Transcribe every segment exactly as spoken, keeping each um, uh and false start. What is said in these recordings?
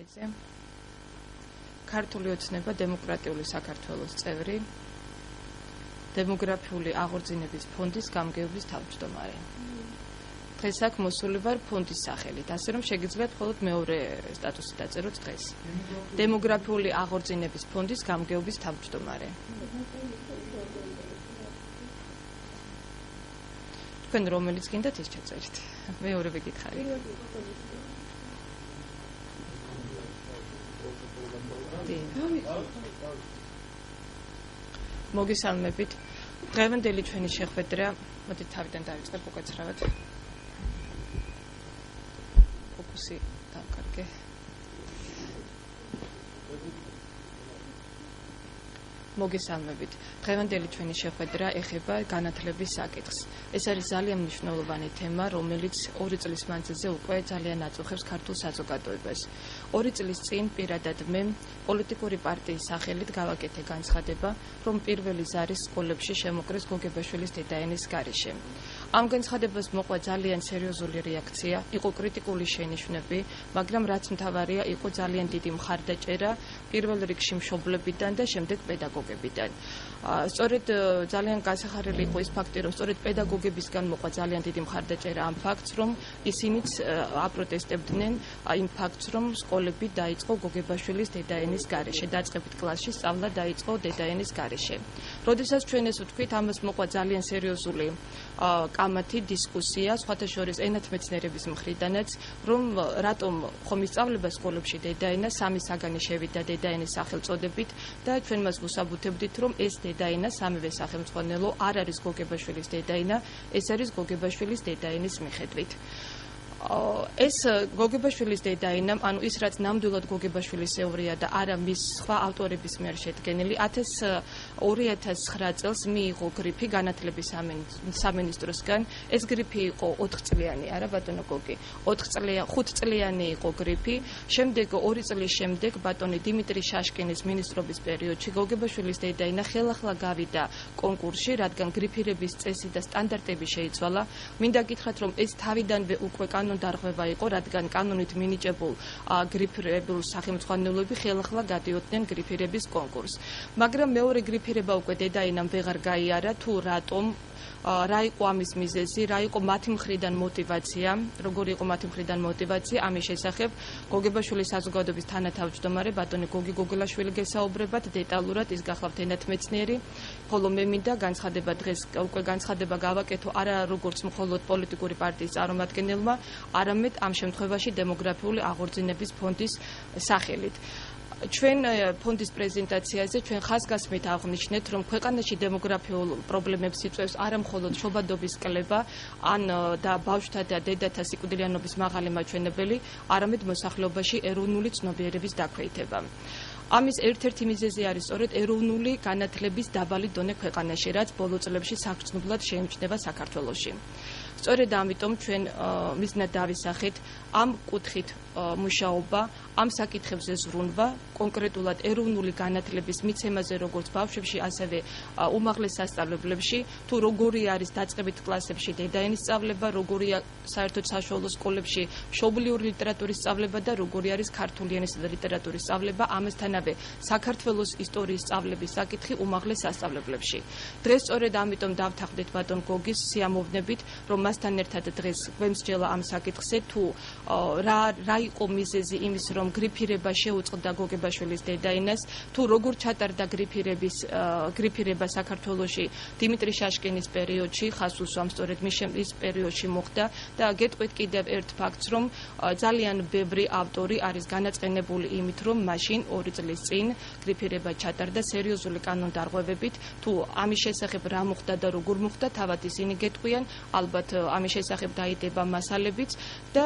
ჭკვიანიძე, ქართული ოცნება დემოკრატიული საქართველოს წევრი, დემოგრაფიული აღორძინების ფონდის გამგეობის თავმჯდომარე. დღეს აქ მოსული ვარ ფონდის სახელით, ასე რომ შეგიძლიათ მხოლოდ მეორე სტატუსი დაწეროთ დღეს. დემოგრაფიული აღორძინების ფონდის გამგეობის თავმჯდომარე. თქვენ რომელიც გინდათ ის ჩაწერეთ. მეორე ვიკითხარი. მოგესალმებით. დღევანდელი ჩვენი შეხვედრა, მოდით თავიდან დავიწყებ უკაცრავად. ფოკუსი დავკარგე. მოგესალმებით. დღევანდელი ჩვენი შეხვედრა ეხება განათლების საკითხს. ეს არის ძალიან მნიშვნელოვანი თემა, რომელიც ორი წლის მანძილზე უკვე ძალიან აწუხებს ქართულ საზოგადოებას. ორი წლის წინ პირადად მე პოლიტიკური პარტიის სახელით გავაკეთე განცხადება, რომ პირველი ზარი სკოლებში შემოკრეს გოგებაშვილის დედაენის გარეშე. ამ განცხადებას მოყვა ძალიან სერიოზული რეაქცია, იყო კრიტიკული შენიშვნები, მაგრამ რაც მთავარია, იყო ძალიან დიდი მხარდაჭერა პირველ რიგში მშობლებიდან და შემდეგ პედაგოგებიდან. სწორედ ძალიან გასახარელი იყო ის ფაქტი, რომ სწორედ პედაგოგებისგან მოყვა ძალიან დიდი მხარდაჭერა ამ ფაქტს, რომ ისინიც აპროტესტებდნენ იმ ფაქტს, რომ სკოლები დაიწყო გოგებაშვილის დედაენის გარეშე, დაწყებით კლასში სწავლა დაიწყო დედაენის გარეშე. როდესაც ჩვენ ეს ვთქვით, ამას მოყვა ძალიან სერიოზული კამათი დისკუსია, სხვათა შორის ენათმეცნიერების მხრიდანაც, რომ რატომ ხომ ისწავლება სკოლებში დედაენა, სამი საგანი შევიდა დედაენის სახელწოდებით და ჩვენ მას ვუსაბუთებდით, რომ ეს დედაენა სამივე სახელმძღვანელო არ არის გოგებაშვილის დედაენა, ეს არის გოგებაშვილის დედაენის მიხედვით. ეს გოგებაშვილის დედაენა, ანუ ის რაც ნამდვილად გოგებაშვილისევრია და არა მის სხვა ავტორების მიერ შედგენილი, ორი ათას ცხრა წელს მიიღო გრიფი განათლების სამინისტროსგან. ეს გრიფი იყო ოთხწლიანი, არა ბატონო გოგი, ხუთწლიანი იყო გრიფი. შემდეგ ორი წლის შემდეგ ბატონი დიმიტრი შაშკინის მინისტრობის პერიოდში გოგებაშვილის დედაენა ხელახლა გავიდა კონკურსში, რადგან გრიფირების წესი და სტანდარტები შეიცვალა. მინდა გითხრათ, რომ ეს თავიდანვე უკვე დარღვევა იყო, რადგან კანონით მინიჭებულ გრიფირებულ სახელმძღვანელოები ხელახლა გადიოდნენ გრიფირების კონკურსს. მაგრამ მეორე გრიფირება უკვე დედაენამ ვეღარ გაიარა, თუ რატომ, რა იყო ამის მიზეზი, რა იყო მათი მხრიდან мотиваცია, როგორი იყო მათი მხრიდან мотиваცია, ამის შესახებ გოგებაშვილის საზოგადოების თანათავმჯდომარე ბატონი გოგი გოგოლაშვილი გესაუბრებათ დეტალურად, ის გახლავთ ენათმეცნიერი, ხოლო მე მინდა განცხადება დღეს უკვე განცხადება გავაკეთო არა როგორც მხოლოდ პოლიტიკური პარტიის წარმომადგენელმა, არამედ ამ შემთხვევაში დემოგრაფიული აღორძინების ფონდის სახელით. ჩვენ ფონდის პრეზენტაციაზე ჩვენ ხაზგასმით აღვნიშნეთ, რომ ქვეყანაში დემოგრაფიულ პრობლემებს იწვევს არა მხოლოდ შობადობის კლება, ან და ბავშვთა და დედათა სიკვდილიანობის მაღალი მაჩვენებელი, არამედ მოსახლეობაში ეროვნული ცნობიერების დაქვეითება. ამის ერთ-ერთი მიზეზი არის სწორედ ეროვნული განათლების დაბალი დონე ქვეყანაში, რაც ბოლო წლებში საგრძნობლად შეიმჩნევა საქართველოში. სწორედ ამიტომ ჩვენ მიზნად დავისახეთ ამ კუთხით მუშაობა, ამ საკითხებზე ზრუნვა, კონკრეტულად ეროვნული განათლების მიცემაზე როგორც ბავშვებში, ასევე უმაღლეს სასწავლებლებში, თუ როგორი არის დაწყებით კლასებში დედაენის სწავლება, როგორია საერთოდ საშუალო სკოლებში მშობლიური ლიტერატურის სწავლება და როგორი არის ქართული ენისა და ლიტერატურის სწავლება, ამასთანავე საქართველოს ისტორიის სწავლების საკითხი უმაღლეს სასწავლებლებში. დღეს სწორედ ამიტომ დავთანხმდით ბატონ გოგის სიამოვნებით, რომ მასთან ერთად დღეს გვემსჯელა ამ საკითხზე, თუ რა რა იყო მიზეზი იმის, რომ გრიფირება შეუწყდა გოგებაშვილის დედაენას, თუ როგორ ჩატარდა გრიფირების გრიფირება საქართველოში დიმიტრი შაშკინის პერიოდში, ხაზს უსვამ სწორედ მის პერიოდში მოხდა და გეტყვით კიდევ ერთ ფაქტს, რომ ძალიან ბევრი ავტორი არის განაწყენებული იმით, რომ მაშინ ორი წლის წინ გრიფირება ჩატარდა სერიოზული კანონდარღვევებით, თუ ამის შესახებ რა მოხდა და როგორ მოხდა, თავად ისინი გეტყვიან, ალბათ ამის შესახებ დაიდება მასალებიც და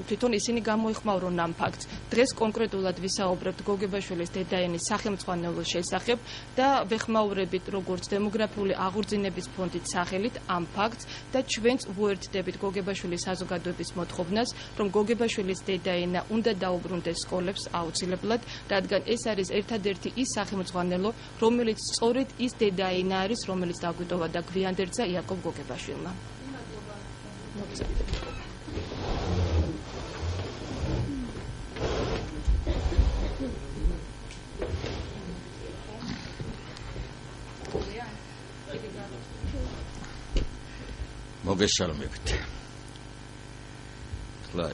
თვითონ ისინი გამოიხმაურონ ამ ფაქტს. დღეს კონკრეტულად ვისაუბრებთ გოგებაშვილის დედაენის სახელმძღვანელოს შესახებ და ვეხმაურებით როგორც დემოგრაფიული აღორძინების ფონდის სახელით ამ ფაქტს და ჩვენც ვუერთდებით გოგებაშვილის საზოგადოების მოთხოვნას, რომ გოგებაშვილის დედაენა უნდა დაუბრუნდეს სკოლებს აუცილებლად, რადგან ეს არის ერთადერთი ის სახელმძღვანელო, რომელიც სწორედ ის დედაენა არის, რომელიც დაგვიტოვა და გვიანდერძა იაკობ გოგებაშვილმა. მოგზაურობთ. მოგესალმებით. ხლა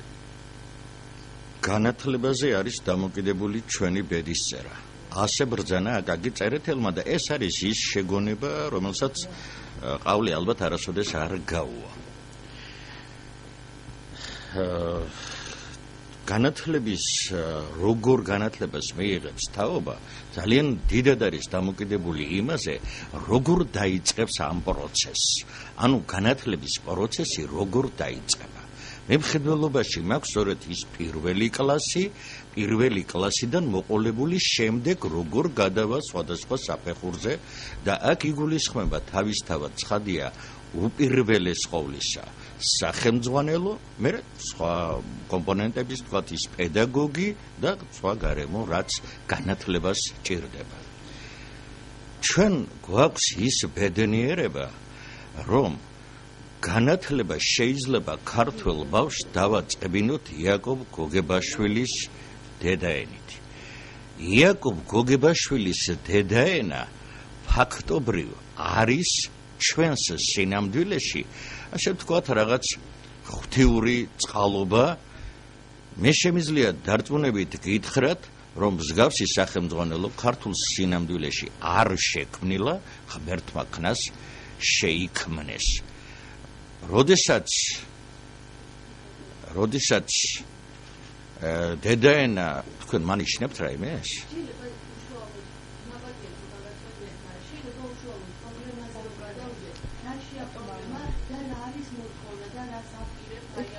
განათლებაზე არის დამოკიდებული ჩვენი ბედისწერა. ასე ბრძანა აკაკი წერეთელმა და ეს არის ის შეგონება, რომელსაც ყავლი ალბათ არასოდეს არ გაუვა. განათლების როგორ განათლებას მიიღებს თაობა ძალიან დიდად არის დამოკიდებული იმაზე, როგორ დაიწყებს ამ პროცესს. ანუ განათლების პროცესი როგორ დაიწყება. მემხედველობაში მაქვს სწორედ ის პირველი კლასი, პირველი კლასიდან მოყოლებული შემდეგ როგორ გადავა სხვადასხვა საფეხურზე და აქ იგულისხმება თავისთავად ცხადია უპირველეს ყოვლისა სახელმძღვანელო, მე სხვა კომპონენტების თქვათ ის პედაგოგი და სხვა გარემო, რაც განათლებას ჭირდება. ჩვენ გვაქვს ის ბედნიერება, რომ განათლება შეიძლება ქართველ ბავშვს დავაწყებინოთ იაკობ გოგებაშვილის დედაენით. იაკობ გოგებაშვილის დედაენა ფაქტობრივ არის ჩვენს სინამდვილეში, ასე ვთქვათ, რაღაც ღვთიური წყალობა. მე შემიძლია დარწმუნებით გითხრათ, რომ მსგავსი სახელმძღვანელო ქართულ სინამდვილეში არ შექმნილა, ღმერთმა ქნას შეიქმნეს. როდესაც როდესაც დედაენა თქვენ მანიშნებთ რაიმეს?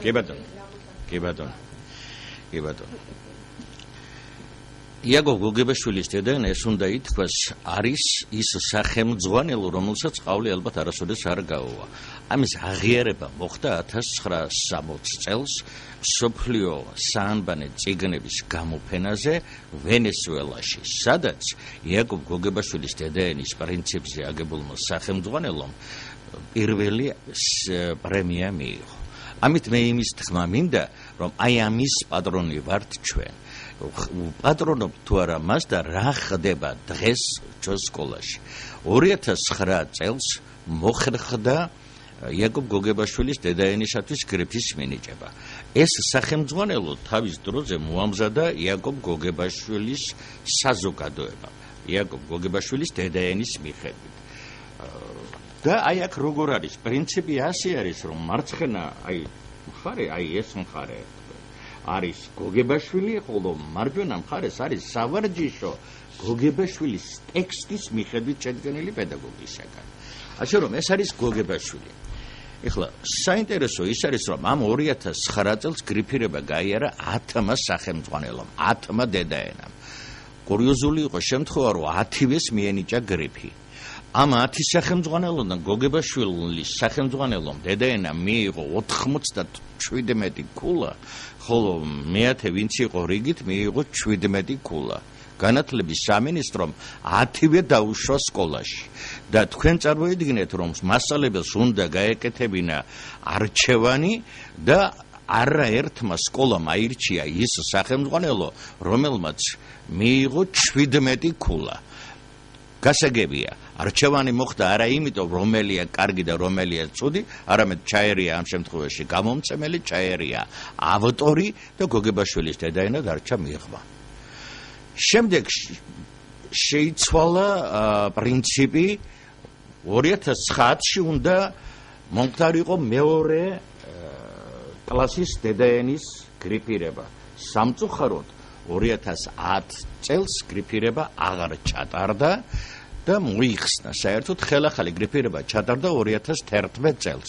კი ბატონო, კი ბატონო, კი ბატონო. იაკობ გოგებაშვილის დედაენა, ეს უნდა ითქვას, არის ის სახელმძღვანელო, რომელსაც ყავლი ალბათ არასოდეს არ გაუვა. ამის აღიარება მოხდა ათას ცხრაას სამოცდ წელს მსოფლიო საანბანე წიგნების გამოფენაზე ვენესუელაში, სადაც იაკობ გოგებაშვილის დედაენის პრინციპზე აგებულმა სახელმძღვანელომ პირველი პრემია მიიღო. ამით მე იმის თქმა მინდა, რომ აი ამის პატრონი ვართ ჩვენ. პატრონობ თუ არა მას და რა ხდება დღეს ჩვენ სკოლაში. ორი ათას ცხრა წელს მოხერხდა იაკობ გოგებაშვილის დედაენისათვის გრიფის მინიჭება. ეს სახელმძღვანელო თავის დროზე მოამზადა იაკობ გოგებაშვილის საზოგადოება, იაკობ გოგებაშვილის დედაენის მიხედვით. და აი აქ როგორ არის პრინციპი ასე არის, რომ მარცხენა აი მხარე, აი ეს მხარე არის გოგებაშვილი, ხოლო მარჯვენა მხარეს არის სავარჯიშო გოგებაშვილის ტექსტის მიხედვით შედგენილი პედაგოგისაგან. ასე რომ ეს არის გოგებაშვილი. ეხლა საინტერესო ის არის, რომ ამ ორი ათას ცხრა წელს გრიფირება გაიარა ათმა სახელმძღვანელომ, ათმა დედაენამ. კურიოზული იყო შემთხვევა, რომ ათივეს მიენიჭა გრიფი. ამ ათი სახელმძღვანელოდან გოგებაშვილის სახელმძღვანელომ დედაენა მიიღო ოთხმოცდაშვიდმეტი ქულა, ხოლო მეათე ვინც იყო რიგით მიიღო შვიდმეტი ქულა. განათლების სამინისტრომ ათივე დაუშვა სკოლაში და თქვენ წარმოიდგინეთ, რომ მასწავლებელს უნდა გაეკეთებინა არჩევანი და არაერთმა სკოლამ აირჩია ის სახელმძღვანელო, რომელმაც მიიღო შვიდმეტი ქულა. გასაგებია, არჩევანი მოხდა არა იმიტომ, რომელია კარგი და რომელია ცუდი, არამედ ჩაერია ამ შემთხვევაში გამომცემელი, ჩაერია ავტორი და გოგებაშვილის დედაენა დარჩა მიღმა. შემდეგ შეიცვალა პრინციპი, ორი ათას ცხრაათში უნდა მომხდარიყო მეორე კლასის დედაენის გრიფირება. სამწუხაროდ ორი ათას ათ წელს გრიფირება აღარ ჩატარდა და მოიხსნა. საერთოდ ხელახალი გრიფირება ჩატარდა ორი ათას თერთმეტ წელს.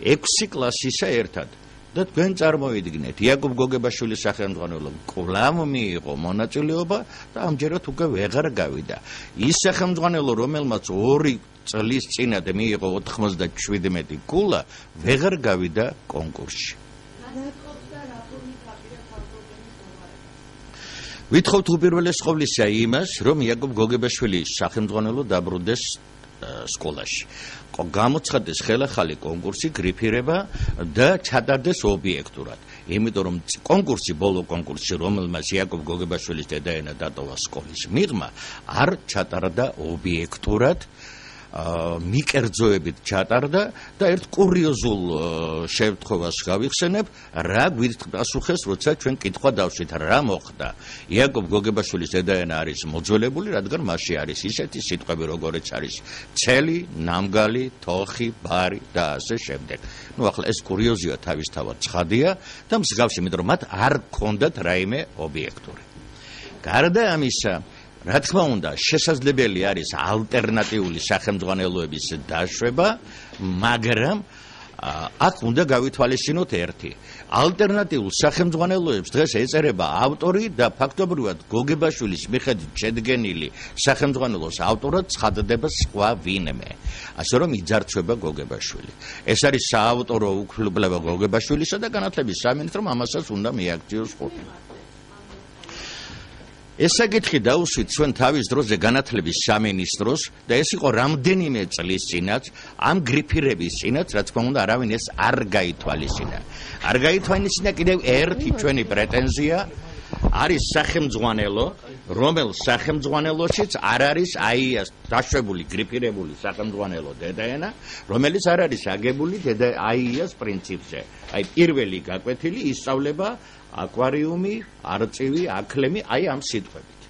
ექვსი კლასისა ერთად. და თქვენ წარმოიდგინეთ, იაკობ გოგებაშვილის სახელმძღვანელომ კვლავ მიიღო მონაწილეობა და ამჯერად უკვე ვეღარ გავიდა. ის სახელმძღვანელო, რომელმაც ორი წლის წინათ მიიღო ოთხმოცდაშვიდმეტი ქულა, ვეღარ გავიდა კონკურსში. ვითხოვთ უპირველეს ყოვლისა იმას, რომ იაკობ გოგებაშვილის სახელმძღვანელო დაბრუნდეს სკოლაში. გამოცხადდეს ხელახალი კონკურსი, გრიფირება და ჩატარდეს ობიექტურად. იმიტომ რომ კონკურსი, ბოლო კონკურსი, რომელმაც იაკობ გოგებაშვილის დედაენა დატოვა სკოლის მიღმა, არ ჩატარდა ობიექტურად. მიკერძოებით ჩატარდა და ერთ კურიოზულ შემთხვევას გავიხსენებ, რა გვიპასუხეს, როცა ჩვენ კითხვა დავშვით, რა მოხდა. იაკობ გოგებაშვილის დედაენა არის მოძველებული, რადგან მასში არის ისეთი სიტყვები, როგორიც არის ცელი, ნამგალი, თოხი, ბარი და ასე შემდეგ. ნუ ახლა ეს კურიოზია თავისთავად ცხადია და მსგავსი, იმიტომ რომ მათ არ ჰქონდათ რაიმე ობიექტური. გარდა ამისა, რა თქმა უნდა, შესაძლებელი არის ალტერნატიული სახელმძღვანელოების დაშვება, მაგრამ აქ უნდა გავითვალისწინოთ ერთი. ალტერნატიულ სახელმძღვანელოებს დღეს ეწერება ავტორი და ფაქტობრივად გოგებაშვილის მიხედვით შედგენილი სახელმძღვანელოს ავტორად ცხადდება სხვა ვინმე. ასე რომ იძარცვება გოგებაშვილი. ეს არის საავტორო უფლება გოგებაშვილისა და განათლების სამინისტრომ ამასაც უნდა მიაქციოს ხუთი. ეს საკითხი დაუსვით ჩვენ თავის დროზე განათლების სამინისტროს და ეს იყო რამდენიმე წლის წინაც ამ გრიფირების წინაც, რა თქმა უნდა, არავინ ეს არ გაითვალისწინა. არ გაითვალისწინა კიდევ ერთი ჩვენი პრეტენზია არის სახელმძღვანელო, რომელ სახელმძღვანელოშიც არ არის აი ეს დაშვებული გრიფირებული სახელმძღვანელო დედაენა, რომელიც არ არის აგებული დედა აიას პრინციპზე. აი პირველი გაკვეთილი ისწავლება აკვარიუმი, არწივი, აკლემი, აი ამ სიტყვებით.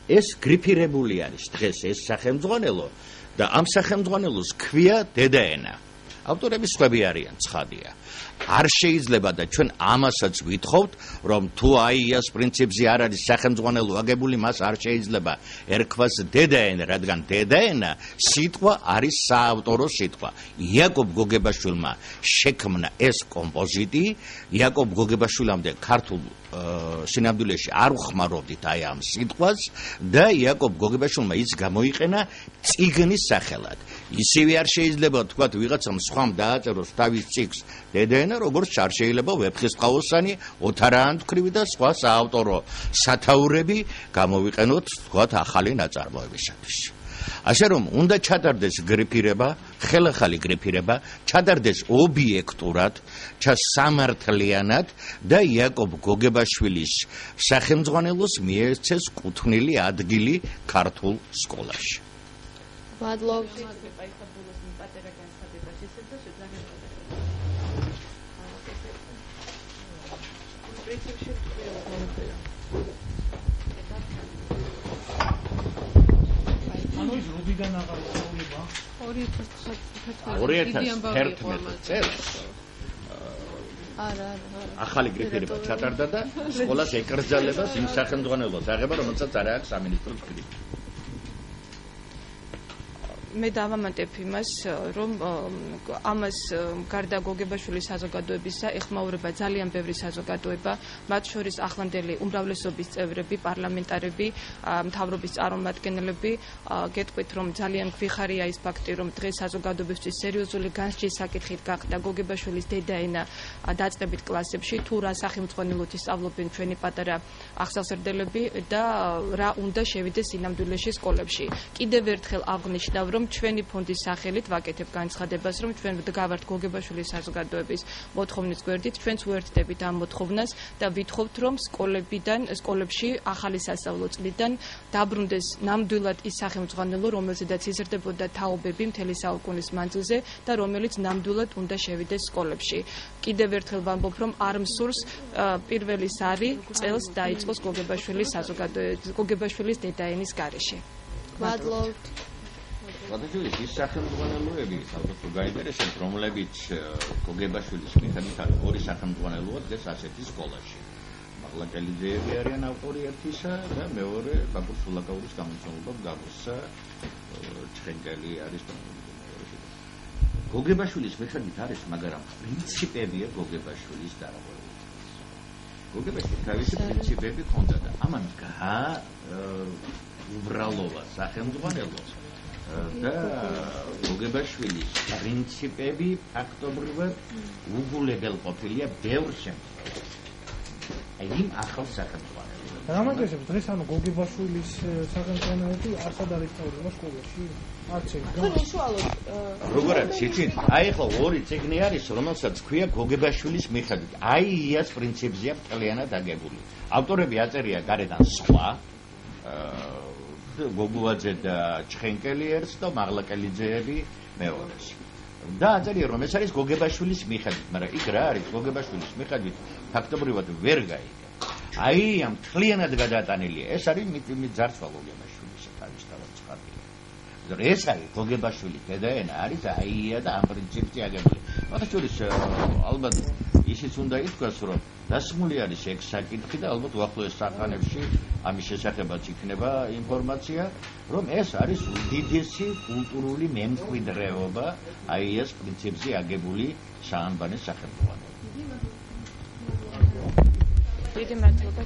ეს გრიფირებული არის დღეს ეს სახელმძღვანელო და ამ სახელმძღვანელოს ქვია დედაენა. ავტორები სხვები არიან, ცხადია. არ შეიძლება და ჩვენ ამასაც ვითხოვთ, რომ თუ აიას პრინციპზე არ არის სახელმძღვანელო აგებული, მას არ შეიძლება ერქვას დედაენა, რადგან დედაენა სიტყვა არის საავტორო სიტყვა. იაკობ გოგებაშვილმა შექმნა ეს კომპოზიტი, იაკობ გოგებაშვილამდე ქართულ სინამდვილეში არ უხმარობდით აი ამ სიტყვას და იაკობ გოგებაშვილმა ის გამოიყენა წიგნის სახელად. ისევე არ შეიძლება თქვათ ვიღაცამ სხვამ დააწეროს თავის წიგნს დედაენა, როგორც არ შეიძლება ვეფხისტყაოსანი, ოთარაანთქრივი და სხვა საავტორო სათაურები გამოვიყენოთ თქვათ ახალი ნაწარმოებისათვის. ასე რომ უნდა ჩატარდეს გრიფირება, ხელახალი გრიფირება, ჩატარდეს ობიექტურად, ჩასამართლიანად და იაკობ გოგებაშვილის სახელმძღვანელოს მიეცეს კუთვნილი ადგილი ქართულ სკოლაში. მადლობთ. ორი ათას ერთმეტი წელს ახალი გრიფირება ჩატარდა და სკოლას ეკრძალებას იმ სახელმძღვანელოს აღება, რომელსაც არ აქვს სამინისტროს გრიფი. მე დავამატებ იმას, რომ ამას გარდა გოგებაშვილის საზოგადოებისა ეხმაურება ძალიან ბევრი საზოგადოება, მათ შორის ახლანდელი უმრავლესობის წევრები, პარლამენტარები, მთავრობის წარმომადგენლები. გეტყვით, რომ ძალიან გვიხარია ის ფაქტი, რომ დღეს საზოგადოებისთვის სერიოზული განსჯის საკითხით გახდა გოგებაშვილის დედაენა დაწყებით კლასებში, თუ რა სახელმძღვანელოთი სწავლობენ ჩვენი პატარა ახსავსრდელები და რა უნდა შევიდეს სინამდვილეში სკოლებში. კიდევ ერთხელ აღნიშნავ, რომ ჩვენი ფონდის სახელით ვაკეთებ განცხადებას, რომ ჩვენ ვდგავართ გოგებაშვილის საზოგადოების მოთხოვნის გვერდით, ჩვენც უერთდებით ამ მოთხოვნას და ვითხოვთ, რომ სკოლებიდან, სკოლებში ახალი სასწავლო წლიდან დაბრუნდეს ნამდვილად ის სახელმძღვანელო, რომელზედაც იზრდებოდა თაობები მთელი საუკუნის მანძილზე და რომელიც ნამდვილად უნდა შევიდეს სკოლებში. კიდევ ერთხელ ვამბობ, რომ არ მსურს პირველი სარი წელს დაიწყოს გოგებაშვილის საზოგადოების გოგებაშვილის დედაენის გარეშე. მადლობთ. გადაჭრილი ის სახელმძღვანელოები, ალბათ გაინტერესებთ, რომლებიც გოგებაშვილის მიხედვით ორი სახელმძღვანელოა დღეს ასეთი სკოლაში. მაღლაკელიძეები არიან ავტორი ერთისა და მეორე ბაკურ სულაკაურის გამომცემლობა გაგოსა ჩხენკელი არის. გოგებაშვილის მიხედვით არის, მაგრამ პრინციპებია გოგებაშვილის დარღვევები. გოგებაშვილი თავისი პრინციპები ჰქონდა და ამან გაუბრალოვა სახელმძღვანელოს და გოგებაშვილის პრინციპები ფაქტობრივად უგულებელ ყოფილია ბევრ შემთხვევაში. აი იმ ახალ სახელმძღვანელოებს. რამაგესებს დღეს ანუ გოგებაშვილის სახელმძღვანელოები არსად არის სწავლება სკოლაში? არც ერთი. თქვენ უშუალოდ როგორ არის იცით? აი ახლა ორი წიგნი არის, რომელსაც ქვია გოგებაშვილის მიხედვით. აი იას პრინციპზეა მთლიანად აგებული. ავტორები აწერია გარედან სხვა გოგუაძე და ჩხენკელი ერთს და მაღლაკელიძეები მეორეს. და აწერია რომ ეს არის გოგებაშვილის მიხედვით, მაგრამ იქ რა არის გოგებაშვილის მიხედვით ფაქტობრივად ვერ გაიგე. აი ამ თლიანად გადატანილია. ეს არის მით ძარცვა გოგებაშვილის თავისთავად ცხადია. ეს არის გოგებაშვილის დედაენა არის აია და ამ პრინციპზე აგებული. მაგას შორის ალბათ ისიც უნდა ითქვას რომ დასმული არის ეგ საკითხი და ალბათ უახლოეს საყანებში ამის შესახებაც იქნება ინფორმაცია რომ ეს არის უდიდესი კულტურული მემკვიდრეობა აიას პრინციპზე აგებული საანბანის სახელმძღვანელო. დიდი მადლობა.